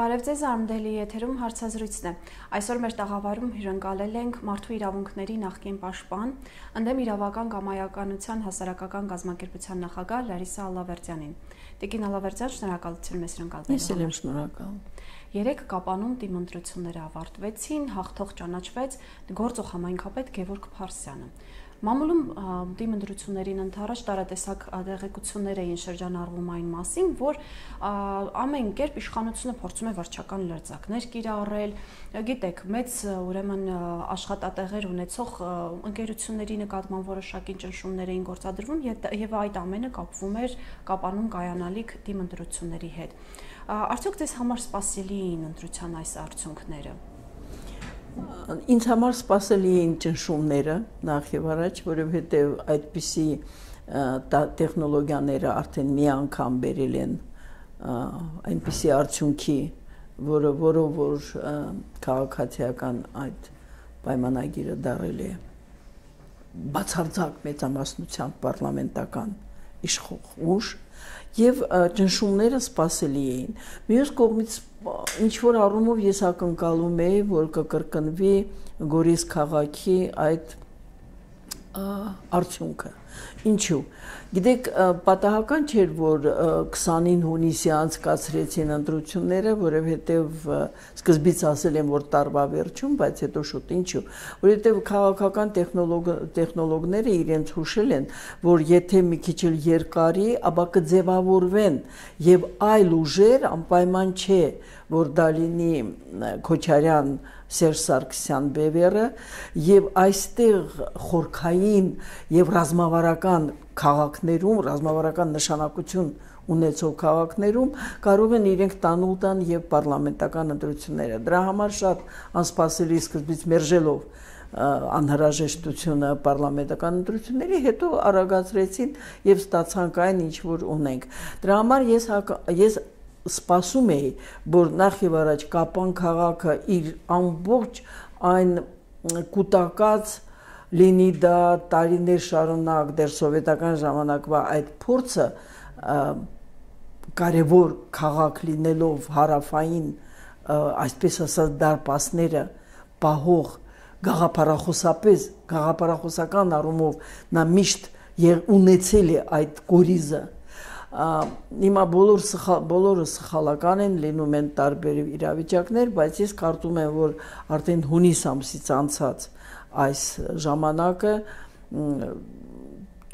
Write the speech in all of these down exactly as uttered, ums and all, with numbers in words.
Բարև ձեզ, Արմդելի եթերում հարցազրույցն է։ Այսօր մեր տաղավարում հյուրընկալել ենք Մարդու իրավունքների նախկին պաշտպան, ընդդեմ իրավական կամայականության հասարակական կազմակերպության նախագահ Լարիսա Ալավերդյանին։ Տիկին Ալավերդյան, շնորհակալություն մեզ հյուրընկալվելու համար։ Ես էլ եմ շնորհակալ։ Երեք կապանում դիմ ընտրությունները ավարտվեցին, հաղթող ճանաչվեց գործող համայնքապետ Գևորգ Փարսյանը։ Մամուլում դիմ ընտրություններին ընդառաջ տարատեսակ տեղեկություններ էին շրջանառվում այն մասին, որ ամեն կերպ իշխանությունը փորձում է վարչական լրձակներ կիրառել, գիտեք, մեծ ուրեմն աշխատատեղեր ունեցող ընկերությունների նկատմամբ որոշակի ճնշումներ էին գործադրվում եւ այդ ամենը կապվում էր կապանում կայանալիք դիմ ընտրությունների հետ։ Արդյոք դες համար սպասելի էին ընտրության այս արդյունքները։ Ինձ համար սպասելի էին ճնշումները նախ եւ առաջ, որովհետեւ այդպիսի տեխնոլոգիաները արդեն մի անգամ բերել են այնպիսի արդյունքի, որը որով որ քաղաքացիական այդ պայմանագիրը դարել է բացարձակ մեծամասնությամբ պարլամենտական իշխող ուժ եւ ճնշումները սպասելի էին։ Մյուս կողմից ինչ որ առումով ես ակնկալում եի, որ կկրկնվի Գորիս քաղաքի այդ արդյունքը։ Ինչու։ Գիտեք, պատահական չէր, որ քսանինը հունիսի անցկացրեցին ընտրությունները, որովհետև սկզբից ասել են, որ տարվա վերջում, բայց հետո շուտ ինչու, որովհետև քաղաքական տեխնոլոգները իրենց հուշել են, որ եթե մի քիչ էլ երկարի, ապա կձևավորվեն եւ այլ ուժեր անպայման չէ, որ դա լինի Քոչարյան Սերժ Սարգսյան բևերը եւ այստեղ խորքային եւ ռազմավարական քաղաքներում, ռազմավարական նշանակություն ունեցող քաղաքներում կարող են իրենք տանուլ տան եւ պարլամենտական ընտրությունները։ Դրա համար շատ անսպասելի սկզբից մերժելով անհրաժեշտությունը պարլամենտական ընտրությունների, հետո արագացրեցին եւ ստացանք այն ինչ որ ունենք։ Դրա համար ես ես սպասում էի, որ նախ եւ առաջ Կապան քաղաքը իր ամբողջ այն կուտակած լինի դա տարիներ շարունակ դեռ սովետական ժամանակվա այդ փորձը կարևոր քաղաք լինելով հարավային այսպես ասած դարպասները պահող գաղափարախոսապես գաղափարախոսական առումով նա միշտ ունեցել է այդ կորիզը Հիմա բոլոր բոլորը սխալական են, լինում են տարբեր իրավիճակներ, բայց ես կարծում եմ, որ արդեն հունիս ամսից անցած այս ժամանակը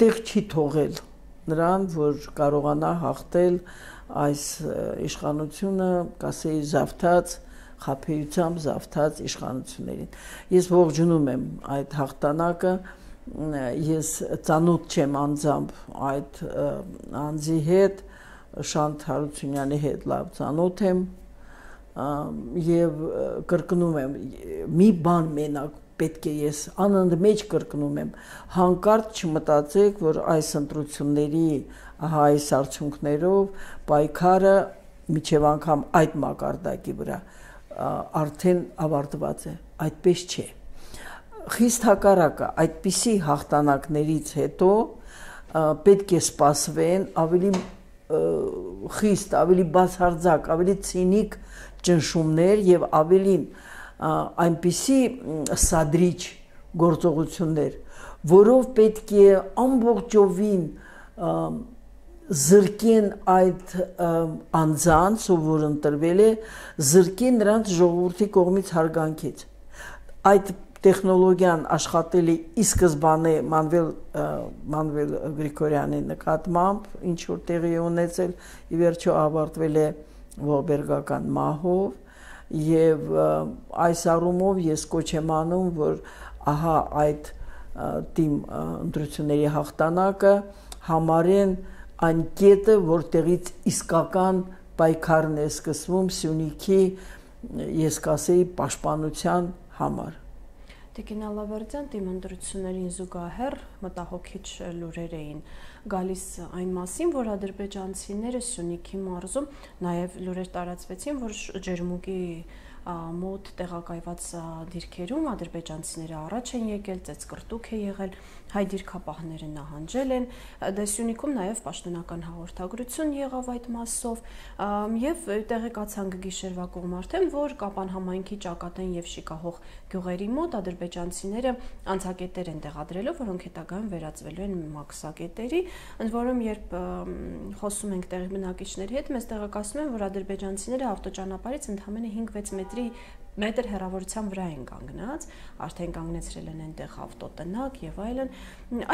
տեղ չի թողել նրան, որ կարողանա հաղթել այս իշխանությունը, կասեի զավթած, խաբեությամբ զավթած իշխանություններին։ Ես ողջունում եմ այդ հաղթանակը Ես ծանոթ չեմ անձամբ այդ անձի հետ, Շանթ Հարությունյանի հետ լավ ծանոթ եմ եւ կրկնում եմ, մի բան մենակ պետք է ես անընդմեջ կրկնում եմ, հանկարծ չմտածեք, որ այս ընտրությունների ահա այս արդյունքներով պայքարը միջև անգամ այդ մակարդակի վրա արդեն ավարտված է, այդպես չէ։ Խիստ հակառակը այդպիսի հաղթանակներից հետո պետք է սպասվեն ավելի խիստ, ավելի բացարձակ, ավելի ցինիկ ճնշումներ եւ ավելին այնպիսի սադրիչ գործողություններ, որով պետք է ամբողջովին զրկեն այդ անձանց, որ ընտրվել է, զրկեն նրանց ժողովրդի կողմից հարգանքից։ Այդ տեխնոլոգիան աշխատել է ի սկզբանե Մանվել Մանվել Գրիգորյանի նկատմամբ, ինչ որ տեղի ունեցել, ի վերջո ավարտվել է ողբերգական մահով եւ այս առումով ես կոչ եմ անում, որ ահա այդ թիմ ընտրությունների հաղթանակը համարեն այն կետը, որտեղից իսկական պայքարն է սկսվում Սյունիքի, ես կասեի, պաշտպանության համար։ Տիկին Ալավերդյան, դիմ ընտրություններին զուգահեռ մտահոգիչ լուրեր էին գալիս այն մասին, որ ադրբեջանցիները Սյունիքի մարզում նաև լուրեր տարածվեցին, որ ջերմուկի մոտ տեղակայված դիրքերում ադրբեջանցիները առաջ են եկել, ծեծկռտուք է եղել, հայ դիրքապահները նահանջել են, դե Սյունիքում նաև պաշտոնական հաղորդագրություն եղավ այդ մասով եւ տեղեկացանք գիշերվա կողմ արդեն, որ Կապան համայնքի Ճակատեն եւ Շիկահող գյուղերի մոտ ադրբեջանցիները անցակետեր են տեղադրելով, որոնք հետագայում վերածվելու են մաքսակետերի, ընդ որում երբ խոսում ենք տեղի բնակիչների հետ, մեզ տեղեկացնում են, որ ադրբեջանցիները ավտոճանապարհից ընդամենը հինգ-վեց մետրի մետր հեռավորության վրա են կանգնած, արդեն կանգնեցրել են այնտեղ ավտոտնակ եւ այլն։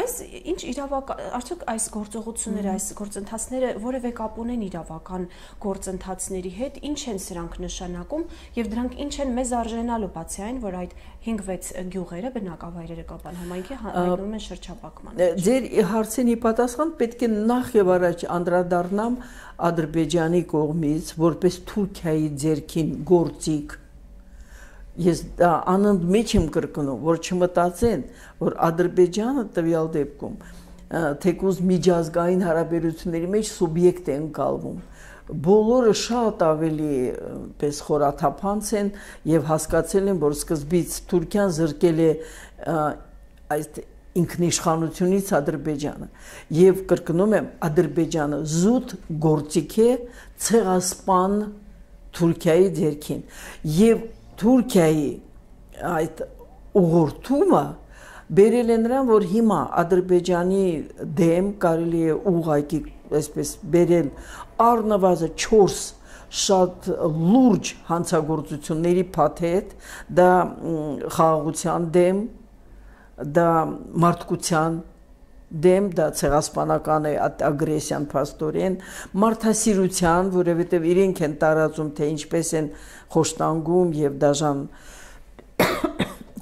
Այս ինչ իրավական, արդյոք այս գործողությունները, այս գործընթացները որևէ կապ ունեն իրավական գործընթացների հետ, ինչ են սրանք նշանակում եւ դրանք ինչ են մեզ արժանալու, բացի այն, որ այդ հինգ-վեց գյուղերը, բնակավայրերը Կապան համայնքի հայտնվում են շրջապատման։ Ձեր հարցին ի պատասխան պետք է նախ եւ առաջ անդրադառնամ Ադրբեջանի կողմից որպես Թուրքիայի ձեռքին գործիք։ Ես դա անընդմեջ եմ կրկնում, որ չմտածեն, որ Ադրբեջանը տվյալ դեպքում թեկուզ միջազգային հարաբերությունների մեջ սուբյեկտ է ընկալվում։ Բոլորը շատ ավելի պես խորաթափանց են եւ հասկացել են, որ սկզբից Թուրքիան զրկել է այդ ինքնիշխանությունից Ադրբեջանը եւ կրկնում եմ Ադրբեջանը զուտ գործիք է ցեղասպան Թուրքիայի ձեռքին եւ Թուրքիայի այդ ուղղորդումը բերել է նրան, որ հիմա Ադրբեջանի դեմ կարելի է ուղղակի այսպես բերել առնվազն չորս շատ լուրջ հանցագործությունների փաթեթ, դա խաղաղության դեմ, դա մարդկության դեմ, դա ցեղասպանական է ագրեսիան փաստորեն, մարդասիրության, որովհետև իրենք են տարածում, թե ինչպես են խոշտանգում եւ դաժան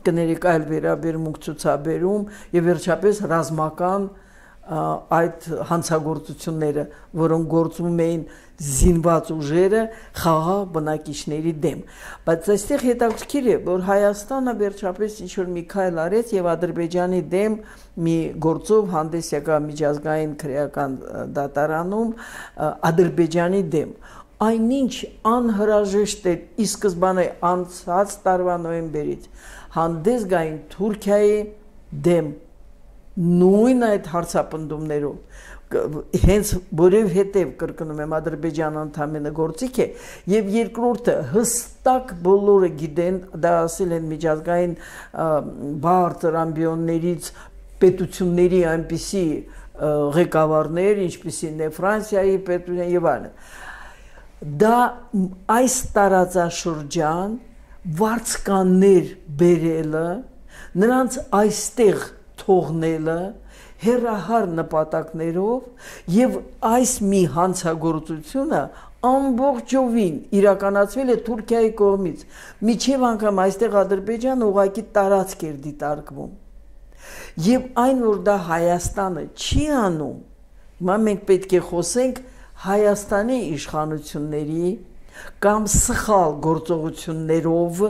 կներեք այլ վերաբերմունք ցուցաբերում եւ վերջապես ռազմական այդ հանցագործությունները, որոնք գործում էին զինված ուժերը խաղաղ բնակիչների դեմ։ Բայց այստեղ հետաքրքիր է, որ Հայաստանը վերջապես ինչ-որ մի քայլ արեց եւ Ադրբեջանի դեմ մի գործով հանդես եկավ միջազգային քրեական դատարանում Ադրբեջանի դեմ։ Այնինչ անհրաժեշտ է ի սկզբանե անցած տարվա նոյեմբերից հանդես գային Թուրքիայի դեմ նույն այդ հարցապնդումներով հենց որովհետև կրկնում եմ Ադրբեջանը ընդամենը գործիք է եւ երկրորդը հստակ բոլորը գիտեն, դա ասել են միջազգային բարձր ամբիոններից պետությունների այնպիսի ղեկավարներ, ինչպիսին է Ֆրանսիայի պետությունը եւ այլն, դա այս տարածաշրջան վարձկաններ բերելը, նրանց այստեղ թողնելը հերահար նպատակներով եւ այս մի հանցագործությունը ամբողջովին իրականացվել է Թուրքիայի կողմից, միջև անգամ այստեղ Ադրբեջանը ուղղակի տարածք էր դիտարկվում։ Եվ այն, որ դա Հայաստանը չի անում, հիմա մենք պետք է խոսենք Հայաստանի իշխանությունների կամ սխալ գործողություններով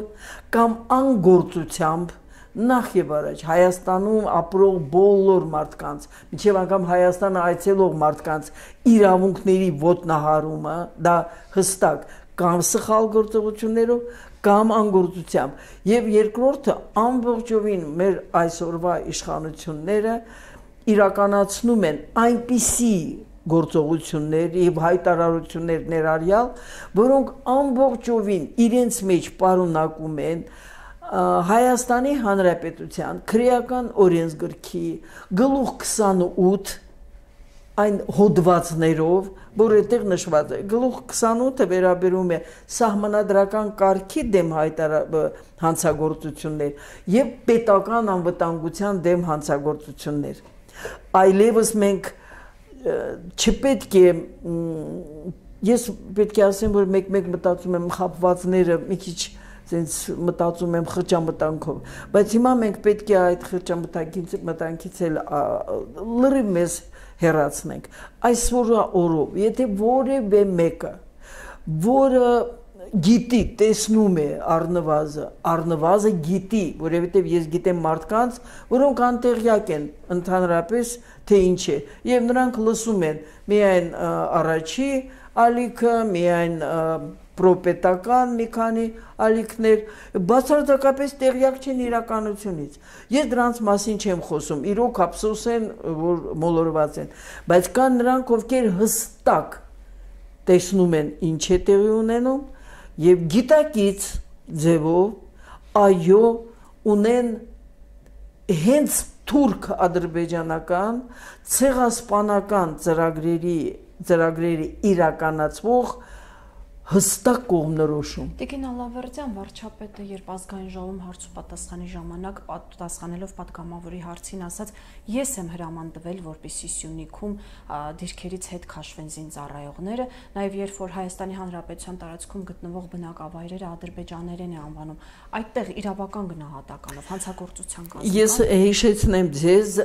կամ անգործությամբ նախ եւ առաջ Հայաստանում ապրող բոլոր մարդկանց, մինչեւ անգամ Հայաստանը այցելող մարդկանց իրավունքների ոտնահարումը, դա հստակ կամ սխալ գործողություններով կամ անգործությամբ, եւ երկրորդը ամբողջովին մեր այսօրվա իշխանությունները իրականացնում են այնպիսի գործողություններ եւ հայտարարություններ ներառյալ, որոնք ամբողջովին իրենց մեջ պարունակում են Հայաստանի Հանրապետության քրեական օրենսգրքի գլուխ քսանութ այն հոդվածներով, որ այդտեղ նշված է, գլուխ քսանութը վերաբերում է սահմանադրական կարգի դեմ հանցագործություններ եւ պետական անվտանգության դեմ հանցագործություններ։ Այլևս մենք չպետք է ես պետք է ասեմ, որ մեկ-մեկ մտածում եմ խապվածները մի քիչ sense մտածում եմ խճամտանքով, բայց հիմա մենք պետք է այդ խճամտանքից մտանքից էլ լրիվ մեզ հեռացնենք։ Այսօր օրով, եթե որևէ մեկը, որը գիտի, տեսնում է առնվազը, առնվազը գիտի, որովհետև ես գիտեմ մարդկանց, որոնք անտեղյակ են ընդհանրապես թե ինչ է, եւ նրանք լսում են միայն առաջի ալիքը, միայն պրոպետական մի քանի ալիքներ, բացարձակապես տեղյակ չեն իրականությունից։ Ես դրանց մասին չեմ խոսում, իրոք ափսոս են, որ մոլորված են, բայց կան նրանք, ովքեր հստակ տեսնում են ինչ է տեղի ունենում եւ գիտակից ձևով այո ունեն հենց թուրք ադրբեջանական ցեղասպանական ծրագրերի ծրագրերի իրականացվող հստակ կողմնորոշում։ Տիկին Ալավերդյան, վարչապետը երբ ազգային ժողովում հարց ու պատասխանի ժամանակ պատասխանելով պատգամավորի հարցին ասաց, ես եմ հրամանտվել, որպեսզի Սյունիքում դիրքերից հետ քաշվեն զինծառայողները, նաև երբ որ Հայաստանի Հանրապետության տարածքում գտնվող բնակավայրերը ադրբեջաներեն է անվանում, այդտեղ իրավական գնահատականով հանցագործության կազմում։ Ես հիշեցնեմ ձեզ,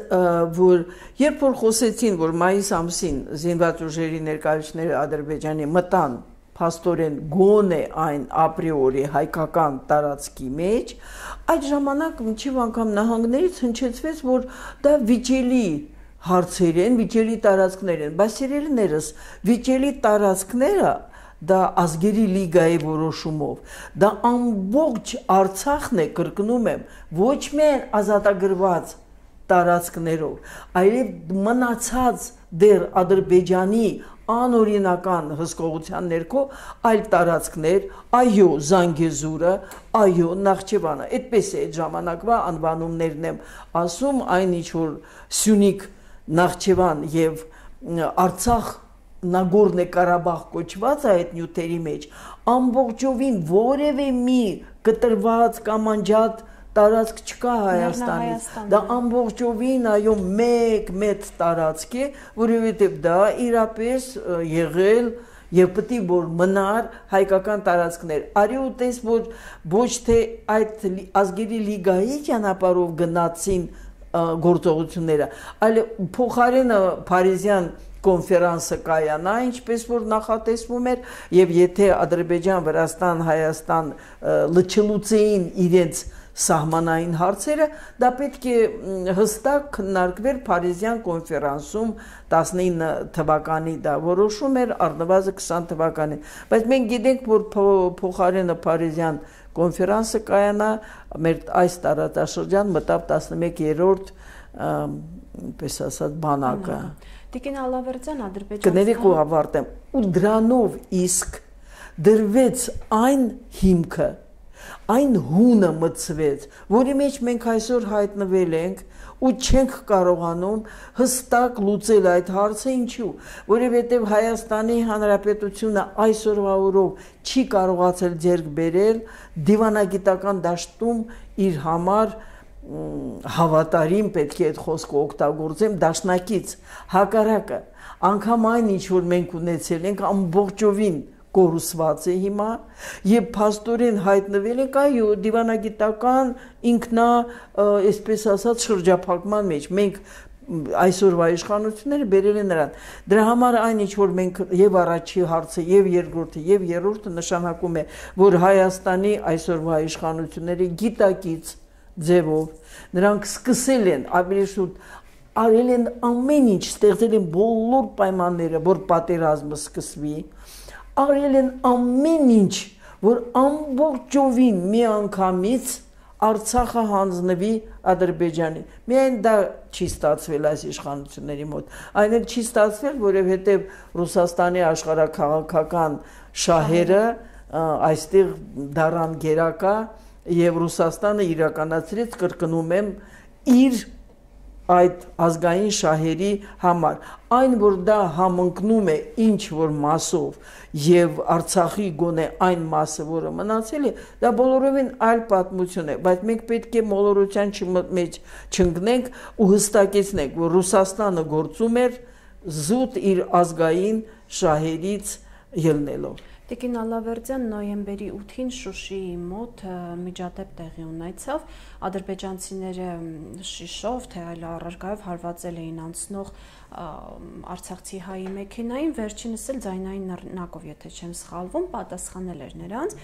որ երբ որ խոսեցին, որ մայիս ամսին զինված ուժերի ներկայացուցիչները Ադրբեջանի մտան փաստորեն գոնե այն ապրիորի հայկական տարածքի մեջ, այդ ժամանակ մինչև անգամ նահանգներից հնչեցվեց, որ դա վիճելի հարցեր են, վիճելի տարածքներ են, բայց սիրելիներս, վիճելի տարածքները դա ազգերի լիգայի որոշումով, դա ամբողջ Արցախն է, կրկնում եմ, ոչ միայն ազատագրված տարածքներով, այլև մնացած դեռ Ադրբեջանի անօրինական հսկողության ներքո այլ տարածքներ, այո, Զանգեզուրը, այո, Նախճեվանը, այդպես է այդ ժամանակվա անվանումներն եմ ասում, այն ինչ որ Սյունիք, Նախճեվան եւ Արցախ, Նագորնո Ղարաբաղ կոչված է այդ նյութերի մեջ, ամբողջովին որևէ մի կտրված կամ անջատ տարածք չկա Հայաստանից, դա ամբողջովին այո մեկ մեծ տարածք է, որովհետև դա իրապես եղել եւ պետք է որ մնար հայկական տարածքներ։ Արի ու տես որ ոչ թե այդ ազգերի լիգայի ճանապարհով գնացին գործողությունները, այլ փոխարենը Փարիզյան կոնֆերանսը կայանա, ինչպես որ նախատեսվում էր, եւ եթե Ադրբեջան, Վրաստան, Հայաստան լճելուծեին իրենց սահմանային հարցերը, դա պետք է հստակ քննարկվեր Փարիզյան կոնֆերանսում տասնինը թվականի դա որոշում էր, առնվազն քսան թվականին, բայց մենք գիտենք, որ փոխարենը Փարիզյան կոնֆերանսը կայանա, մեր այս տարածաշրջան մտավ տասնմեկերորդ պես ասած բանակը։ Տիկին Ալավերդյան, Ադրբեջան կներեք ու ավարտեմ, ու դրանով իսկ դրվեց այն հիմքը, այն հունը մտցվեց, որի մեջ մենք այսօր հայտնվել ենք ու չենք կարողանում հստակ լուծել այդ հարցը, ինչու, որովհետև Հայաստանի Հանրապետությունը այսօրվա օրով չի կարողացել ձեռք բերել դիվանագիտական դաշտում իր համար հավատարիմ պետք է այդ խոսքը օգտագործեմ դաշնակից հակառակը, անգամ այն ինչ որ մենք ունեցել ենք ամբողջովին կորուսված է հիմա եւ փաստորեն հայտնվել եք այո դիվանագիտական ինքնա այսպես ասած շրջափակման մեջ մենք այսօրվա իշխանությունները բերել են նրան դրա համար այն ինչ որ մենք եւ առաջի հարցը եւ երկրորդը եւ երրորդը նշանակում է որ Հայաստանի այսօրվա իշխանությունները գիտակից ձևով նրանք սկսել են ավելի շուտ արել են ամեն ինչ ստեղծել են բոլոր պայմանները որ պատերազմը սկսվի արել են ամեն ինչ, որ ամբողջովին մի անգամից Արցախը հանձնվի Ադրբեջանի։ Միայն դա չի ստացվել այս իշխանությունների մոտ։ Այն էլ չի ստացվել, որովհետև Ռուսաստանի աշխարհաքաղաքական շահերը այստեղ դառան գերակա եւ Ռուսաստանը իրականացրեց, կրկնում եմ, իր այդ ազգային շահերի համար այն որ դա համընկնում է ինչ որ մասով եւ Արցախի գոնե այն մասը որը մնացել է դա բոլորովին այլ պատմություն է բայց մենք պետք է մոլորության մեջ չընկնենք ու հստակեցնենք որ Ռուսաստանը գործում էր զուտ իր ազգային շահերից ելնելով Տիկին Ալավերդյան նոյեմբերի ութին Շուշիի մոտ միջադեպ տեղի ունեցավ ադրբեջանցիները շիշով թե այլ առարկայով հարվածել էին անցնող արցախցի հայի մեքենային վերջինս էլ ձայնային նռնակով եթե չեմ սխալվում պատասխանել էր նրանց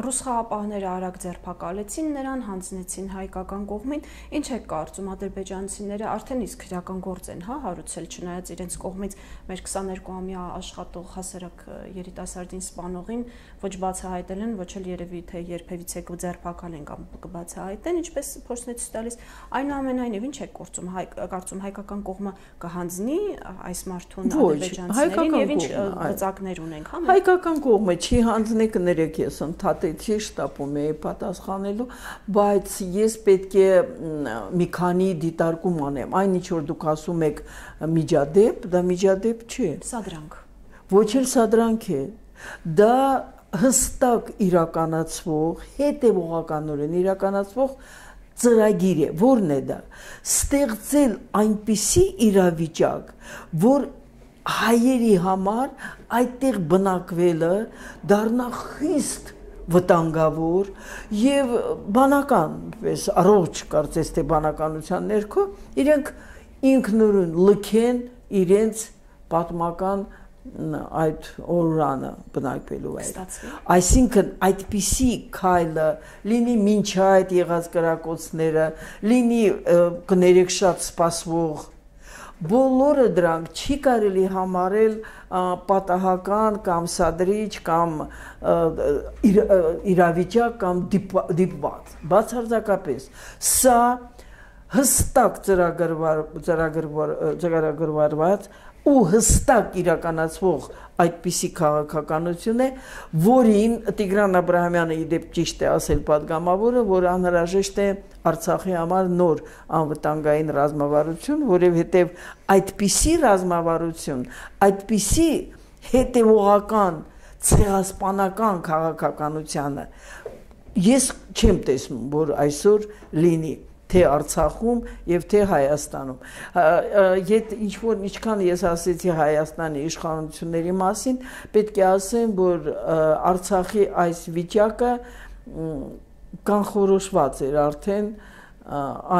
ռուս խաղապահները արագ ձերբակալեցին նրան հանձնեցին հայկական կողմին ինչ է կարծում ադրբեջանցիները արդեն իսկ քրեական գործ են հա հարուցել չնայած իրենց կողմից մեր քսաներկուամյա աշխատող հասարակ երիտասարդին սպանողին ոչ բացահայտել են, ոչ էլ երևի թե երբևիցե կձերբակալ են կամ կբացահայտեն, ինչպես փորձն է ցույց տալիս, այնուամենայնիվ ինչ է գործում, հայ կարծում հայկական կողմը կհանձնի այս մարդուն ադրբեջանցիներին եւ ինչ գծակներ ունենք, հա։ Հայկական կողմը չի հանձնի, կներեք ես ընդհատեցի, շտապում էի պատասխանելու, բայց ես պետք է մի քանի դիտարկում անեմ, այն ինչ որ դուք ասում եք միջադեպ, դա միջադեպ չի։ Սադրանք։ Ոչ էլ սադրանք է, դա հստակ իրականացվող, հետևողականորեն իրականացվող ծրագիր է, որն է դա, ստեղծել այնպիսի իրավիճակ, որ հայերի համար այդտեղ բնակվելը դառնա խիստ վտանգավոր եւ բանական, պես առողջ կարծես թե բանականության ներքո իրենք ինքնուրույն լքեն իրենց պատմական այդ օրրանը բնակվելու այդ։ Այսինքն այդպիսի քայլը լինի մինչ այդ եղած կրակոցները, լինի կներեք շատ սպասվող, բոլորը դրանք չի կարելի համարել պատահական կամ սադրիչ կամ իրավիճակ կամ դիպված, բացարձակապես։ Սա հստակ ծրագրված ու հստակ իրականացվող այդպիսի քաղաքականություն է, որին Տիգրան Աբրահամյանը իդեպ ճիշտ է ասել պատգամավորը, որ անհրաժեշտ է Արցախի համար նոր անվտանգային ռազմավարություն, որովհետև այդպիսի ռազմավարություն, այդպիսի հետևողական, ցեղասպանական քաղաքականությանը ես չեմ տեսնում, որ այսօր լինի թե Արցախում եւ թե Հայաստանում։ Ետ ինչ որ ինչքան ես ասեցի Հայաստանի իշխանությունների մասին, պետք է ասեմ, որ Արցախի այս վիճակը կանխորոշված էր արդեն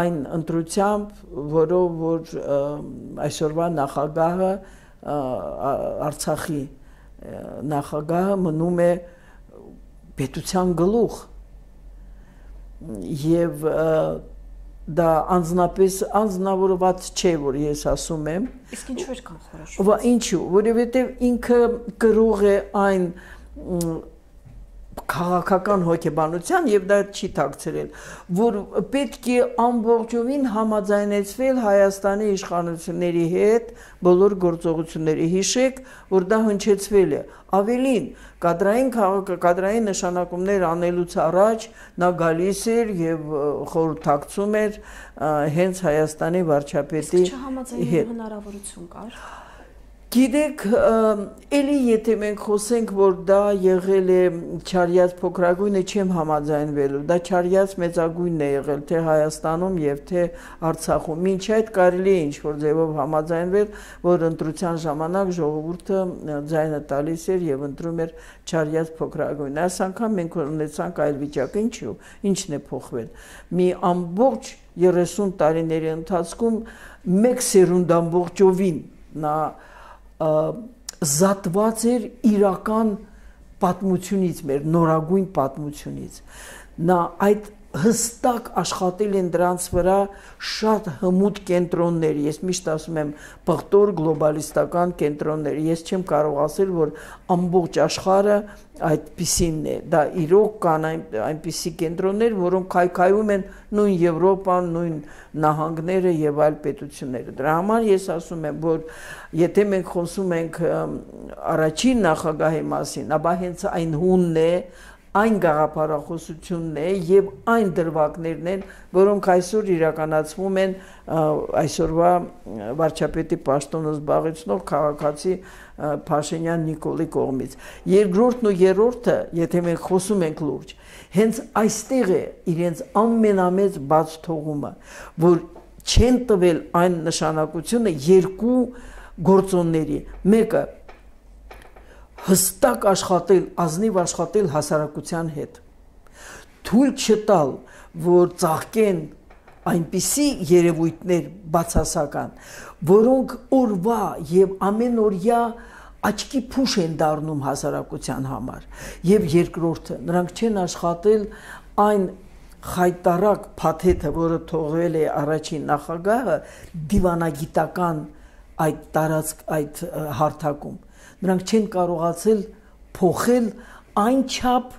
այն ընտրությամբ, որով որ այսօրվա նախագահը Արցախի նախագահը մնում է պետության գլուխ եւ դա անձնապես անձնավորված չէ, որ ես ասում եմ։ Իսկ ինչու էր կանխորոշված։ Ինչու, որովհետև ինքը կրող է այն քաղաքական հոգեբանության եւ դա չի թաքցրել, որ պետք է ամբողջովին համաձայնեցվել Հայաստանի իշխանությունների հետ բոլոր գործողությունների։ Հիշեք, որ դա հնչեցվել է։ Ավելին, կադրային քաղաքակադրային նշանակումներ անելուց առաջ նա գալիս էր եւ խորհրդակցում էր հենց Հայաստանի վարչապետի հետ։ Հնարավորություն կար։ Գիտեք, էլի եթե մենք խոսենք, որ դա եղել է չարյաց փոքրագույնը, չեմ համաձայնվելու, դա չարյաց մեծագույնն է եղել թե Հայաստանում եւ թե Արցախում։ Մինչ այդ կարելի է ինչ-որ ձևով համաձայնվել, որ ընտրության ժամանակ ժողովուրդը ձայնը տալիս էր եւ ընտրում էր չարյաց փոքրագույն։ Այս անգամ մենք ունեցանք այլ վիճակ, ինչու՞, ինչն է փոխվել։ Մի ամբողջ երեսուն տարիների ընթացքում մեկ սերունդ ամբողջովին նա զատված էր իրական պատմությունից, մեր նորագույն պատմությունից։ Նա այդ հստակ աշխատել են դրանց վրա շատ հմուտ կենտրոններ, ես միշտ ասում եմ պղտոր գլոբալիստական կենտրոններ, ես չեմ կարող ասել, որ ամբողջ աշխարհը այդպիսինն է, դա իրոք կան այնպիսի կենտրոններ, որոնք քայքայում են նույն Եվրոպան, նույն նահանգները եւ այլ պետությունները։ Դրա համար ես ասում եմ, որ եթե մենք խոսում ենք առաջին նախագահի մասին, ապա հենց այն հունն է, այն գաղափարախոսությունն է եւ այն դրվագներն են, որոնք այսօր իրականացվում են այսօրվա վարչապետի պաշտոնը զբաղեցնող քաղաքացի Փաշինյան Նիկոլի կողմից։ Երկրորդն ու երրորդը, եթե մենք խոսում ենք լուրջ, հենց այստեղ է իրենց ամենամեծ բաց թողումը, որ չեն տվել այն նշանակությունը երկու գործոնների, մեկը հստակ աշխատել, ազնիվ աշխատել հասարակության հետ, թույլ չտալ, որ ծաղկեն այնպիսի երևույթներ բացասական, որոնք օրվա եւ ամենօրյա աչքի փուշ են դառնում հասարակության համար, եւ երկրորդը, նրանք չեն աշխատել այն խայտարակ փաթեթը, որը թողել է առաջին նախագահը դիվանագիտական այդ տարածք այդ հարթակում, նրանք չեն կարողացել փոխել այն չափ,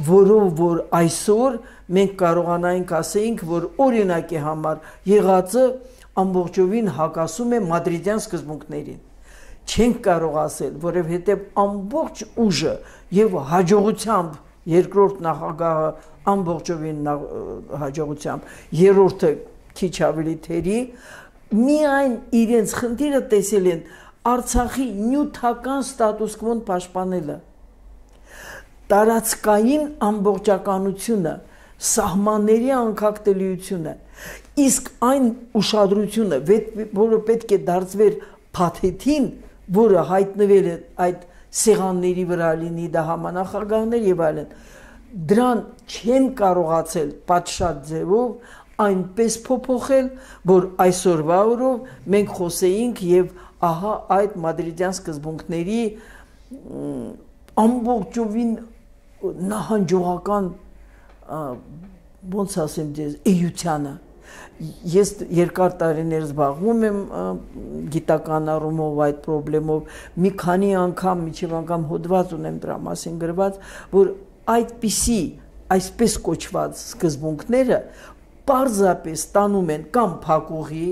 որով որ այսօր մենք կարողանայինք ասեինք, որ օրինակի համար եղածը ամբողջովին հակասում է մադրիդյան սկզբունքներին։ Չենք կարող ասել, որովհետև ամբողջ ուժը եւ հաջողությամբ երկրորդ նախագահը ամբողջովին հաջողությամբ, երրորդը քիչ ավելի թերի, միայն իրենց խնդիրը տեսել են Արցախի նյութական ստատուս կվոն պաշտպանելը, տարածքային ամբողջականությունը, սահմանների անկախտելիությունը, իսկ այն ուշադրությունը, որը պետք է դարձվեր փաթեթին, որը հայտնվել է այդ սեղանների վրա լինի դա համանախագահներ եւ այլն, դրան չեն կարողացել պատշաճ ձևով այնպես փոփոխել, որ այսօրվա օրով մենք խոսեինք եւ ահա այդ մադրիդյան սկզբունքների ամբողջովին նահանջողական ոնց ասեմ ձեզ էյությանը ես երկար տարիներ զբաղվում եմ գիտական առումով այդ խնդրով մի քանի անգամ միջև անգամ հոդված ունեմ դրա մասին գրված որ այդպիսի այսպես կոչված սկզբունքները պարզապես տանում են կամ փակուղի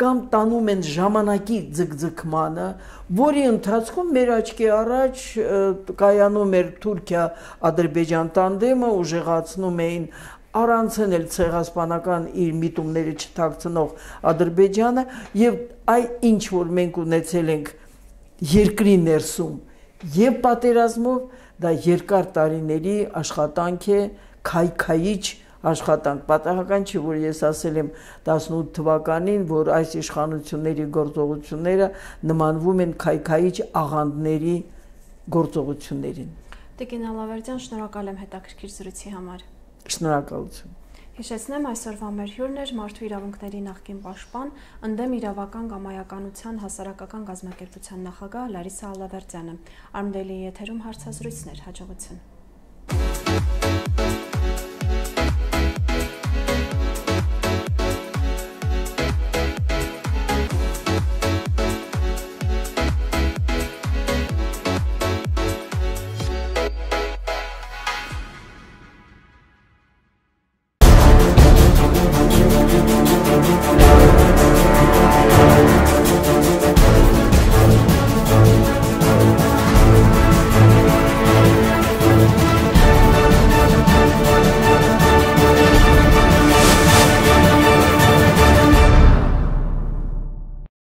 կամ տանում են ժամանակի ձգձգմանը, որի ընթացքում մեր աչքի առաջ կայանում էր Թուրքիա-Ադրբեջան տանդեմը, ուժեղացնում էին առանցն էլ ցեղասպանական իր միտումները չթաքցնող Ադրբեջանը եւ այ ինչ որ մենք ունեցել ենք երկրի ներսում եւ պատերազմով դա երկար տարիների աշխատանք է քայքայիչ աշխատանք պատահական չի որ ես ասել եմ տասնութ թվականին որ այս իշխանությունների գործողությունները նմանվում են քայքայիչ աղանդների գործողություններին Տիկին Ալավերդյան շնորհակալ եմ հետաքրքիր զրույցի համար Շնորհակալություն Հիշեցնեմ այսօրվա մեր հյուրն էր Մարդու իրավունքների նախկին պաշտպան ընդդեմ իրավական կամայականության հասարակական կազմակերպության նախագահ Լարիսա Ալավերդյանը Արմդելի եթերում հարցազրույցներ հաջողություն